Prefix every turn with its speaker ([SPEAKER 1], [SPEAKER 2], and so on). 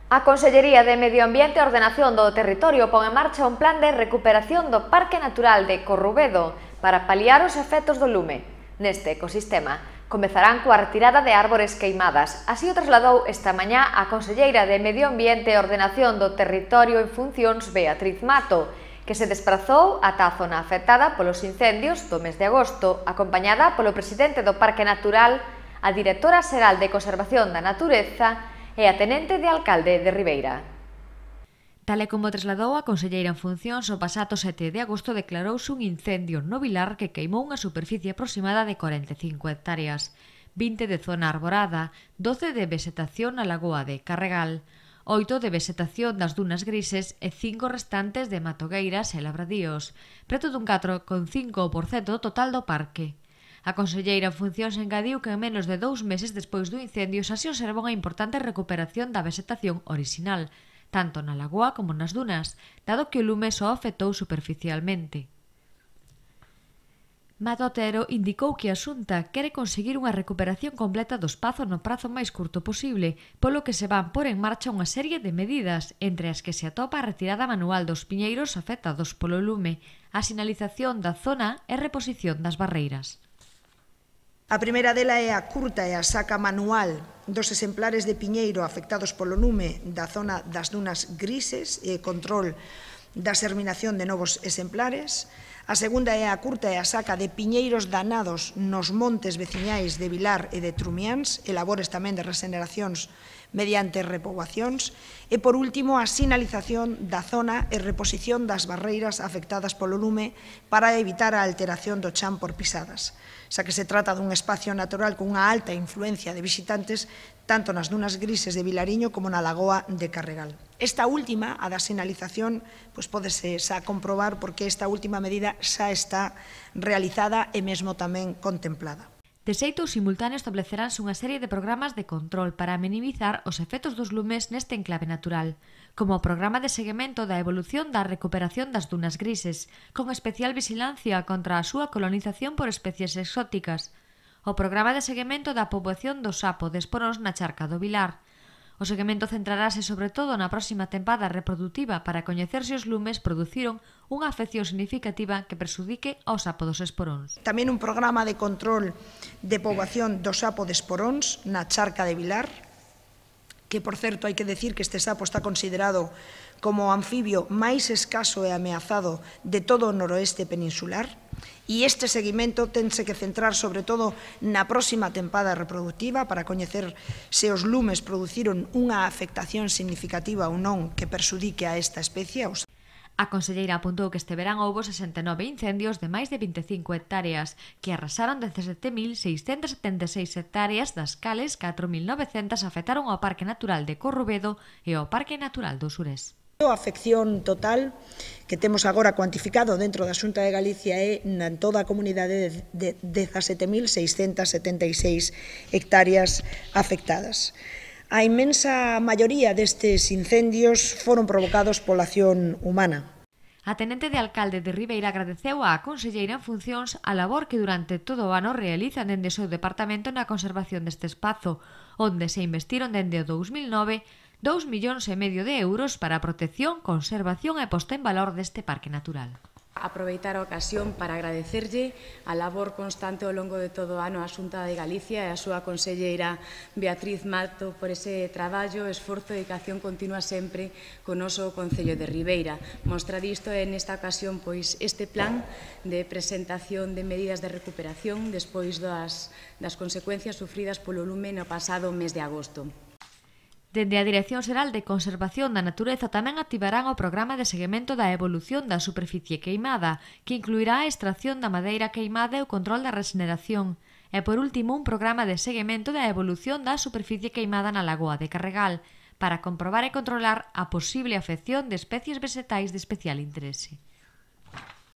[SPEAKER 1] A Consellería de Medio Ambiente e Ordenación do Territorio pon en marcha un plan de recuperación do Parque Natural de Corrubedo para paliar os efectos do lume. Neste ecosistema, comezarán coa retirada de árbores queimadas. Así o trasladou esta mañá a Conselleira de Medio Ambiente e Ordenación do Territorio en funcións Beatriz Mato, que se desprazou ata a zona afectada polos incendios do mes de agosto, acompañada polo presidente do Parque Natural, a directora xeral de Conservación da Natureza e a tenente de alcalde de Ribeira.
[SPEAKER 2] Tal e como trasladou a conselleira en funcións, o pasado 7 de agosto declarouse un incendio no Vilar que queimou unha superficie aproximada de 45 hectáreas, 20 de zona arborada, 12 de vegetación na lagoa de Carregal, 8 de vegetación das dunas grises e 5 restantes de matogueiras e labradíos, preto dun 4,5% do total do parque. A conselleira en funcións engadiu que en menos de 2 meses despois do incendio xa se observa unha importante recuperación da vegetación orixinal, tanto na lagoa como nas dunas, dado que o lume só afectou superficialmente. Mato Otero indicou que a Xunta quere conseguir unha recuperación completa do espazo no prazo máis curto posible, polo que se van por en marcha unha serie de medidas, entre as que se atopa a retirada manual dos piñeiros afectados polo lume, a sinalización da zona e reposición das barreiras.
[SPEAKER 3] A primeira dela é a curta e a saca manual dos exemplares de piñeiro afectados polo lume da zona das dunas grises e control da xerminación de novos exemplares. A segunda é a curta e a saca de piñeiros danados nos montes veciñais de Vilar e de Trumiáns e labores tamén de regeneracións mediante repoboacións. E, por último, a sinalización da zona e reposición das barreiras afectadas polo lume para evitar a alteración do chan por pisadas, xa que se trata dun espacio natural con unha alta influencia de visitantes tanto nas dunas grises de Vilariño como na lagoa de Carregal. Esta última, a da sinalización, pódese xa comprobar porque esta última medida xa está realizada e mesmo tamén contemplada.
[SPEAKER 2] De xeito simultáneo estableceranse unha serie de programas de control para minimizar os efectos dos lumes neste enclave natural, como o programa de seguimento da evolución da recuperación das dunas grises, con especial vigilancia contra a súa colonización por especies exóticas, o programa de seguimento da poboación do sapo de esporóns na charca do Vilar. O seguimento centrarase sobre todo na próxima tempada reproductiva para coñecer se os lumes produciron unha afección significativa que perxudique ao sapo dos esporóns.
[SPEAKER 3] Tamén un programa de control de poboación do sapo de esporóns na charca de Vilar, que, por certo, hai que decir que este sapo está considerado como o anfibio máis escaso e ameazado de todo o noroeste peninsular, e este seguimento tense que centrar sobre todo na próxima tempada reproductiva para coñecer se os lumes produciron unha afectación significativa ou non que perxudique a esta especie.
[SPEAKER 2] A conselleira apuntou que este verán houbo 69 incendios de máis de 25 hectáreas, que arrasaron 17.676 hectáreas, das cales 4.900 afectaron ao Parque Natural de Corrubedo e ao Parque Natural do Surés.
[SPEAKER 3] A afección total que temos agora cuantificado dentro da Xunta de Galicia é en toda a comunidade de 17.676 hectáreas afectadas. A inmensa maioría destes incendios foron provocados pola acción humana.
[SPEAKER 2] A tenente de alcalde de Ribeira agradeceu á conselleira en funcións a labor que durante todo o ano realizan dende o seu departamento na conservación deste espazo, onde se investiron dende o 2009 2,5 millóns de euros para a protección, conservación e posta en valor deste parque natural.
[SPEAKER 4] Aproveitar a ocasión para agradecerlle a labor constante ao longo de todo o ano á Xunta de Galicia e a súa conselleira Beatriz Mato por ese traballo, esforzo e dedicación continua sempre co noso Concello de Ribeira. Mostrar isto é nesta ocasión este plan de presentación de medidas de recuperación despois das consecuencias sufridas polo lume no pasado mes de agosto.
[SPEAKER 2] Dende a Dirección Xeral de Conservación da Natureza tamén activarán o programa de seguimento da evolución da superficie queimada, que incluirá a extracción da madeira queimada e o control da regeneración. E, por último, un programa de seguimento da evolución da superficie queimada na lagoa de Carregal, para comprobar e controlar a posible afección de especies vegetais de especial interese.